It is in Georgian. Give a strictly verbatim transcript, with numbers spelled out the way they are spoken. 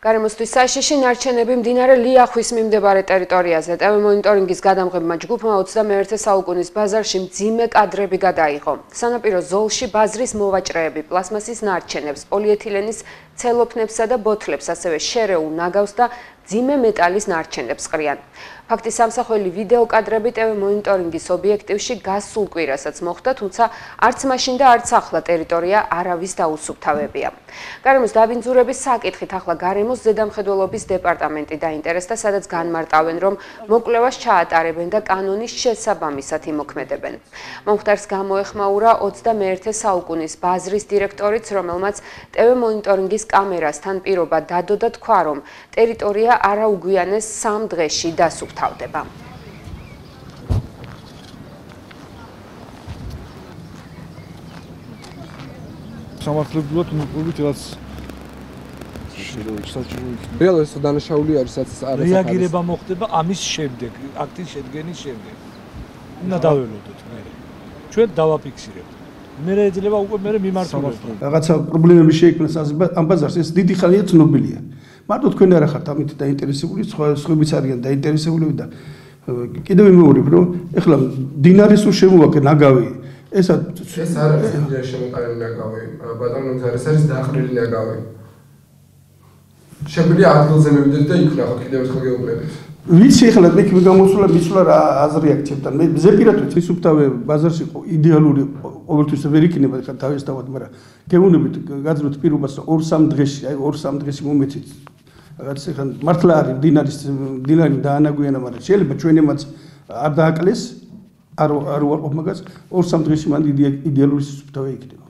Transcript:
გარემოსთვის საშიში ნარჩენები მდინარე ლიახვის მიმდებარე ტერიტორიაზე. ტევ მონიტორინგის გადამღებმა ჯგუფმა ოცდამეერთე საუკუნის ბაზარში მძიმე კადრები გადაიღო. სანაპირო ზოლში ბაზრის მოვაჭრეები პლასმასის ნარჩენებს, პოლიეთილენის ცელოფნებსა და ბოთლებს, ასევე შერეულ ნაგავს და მძიმე მეტალის ნარჩენებს ყრიან. ფაქტის სამსახველი ვიდეო კადრები ტევ მონიტორინგის ობიექტივში გასულ კვირასაც მოხდა, თუმცა არც მაშინ და არც ახლა ტერიტორია არავის დაუსუფთავებია. გარემოს დაბინძურების საკითხით ახლა გარემოს ზედამხედველობის დეპარტამენტი დაინტერესდა, სადაც განმარტავენ, რომ მოკვლევას ჩაატარებენ და კანონის შესაბამისად იმოქმედებენ. მომხდარს გამოეხმაურა ოცდამეერთე საუკუნის ბაზრის დირექტორიც, რომელმაც ტევ მონიტორინგის კამერასთან პირობა დადო და თქვა, რომ ტერიტორია არაუგვიანეს სამ დღეში დასუფთავდება. სამართლებრივად მოკლებით რაც რეალურად დანაშაული არის რაც არის რეაგირება მოხდება ამის შემდეგ, აქტის შედგენის შემდეგ. უნდა დავველოდოთ მე. ჩვენ დავაფიქსირებთ. მე ეძლევა უკვე მე მიმართულება. რაღაცა პრობლემები შეიქმნას ამ ბაზარს, ეს დიდი ხანია ცნობილია. მარტო თქვენ არ ხართ ამით დაინტერესებული, სხვა სხვებიც არიან დაინტერესებულები და კიდევ ვიმეორებ, რომ ეხლა დინარის თუ შემოვაკე ნაგავი ეს ეს არ არის დინარის შემოყარული ნაგავი, ბატონო ეს არის დაყრილი ნაგავი. შეგვიძლია ადგილზე მივიდეთ და იქ ნახოთ კიდევ ერთხელ გეუბნებით. ვიცი ეხლა მე გამოსულა მისვლა რა აზრი აქცევთან. მე ზეპირადად ისუფთავე ბაზარში идеალური ყოველთვის ვერ იქნება ხა თავისთავად, მაგრამ გეუბნებით გაძლევთ პირობას ორ სამ დღეში, აი ორ სამ დღეში მომეცით. რაღაც ეხლა მართლა არის დინარის დინარი დაანაგვიანა, მაგრამ შეიძლება ჩვენემაც არ დააკლეს, არ არ უარყოფ მაგას ორ სამ დღეში მან იდეალური ისუფთავე იქნება.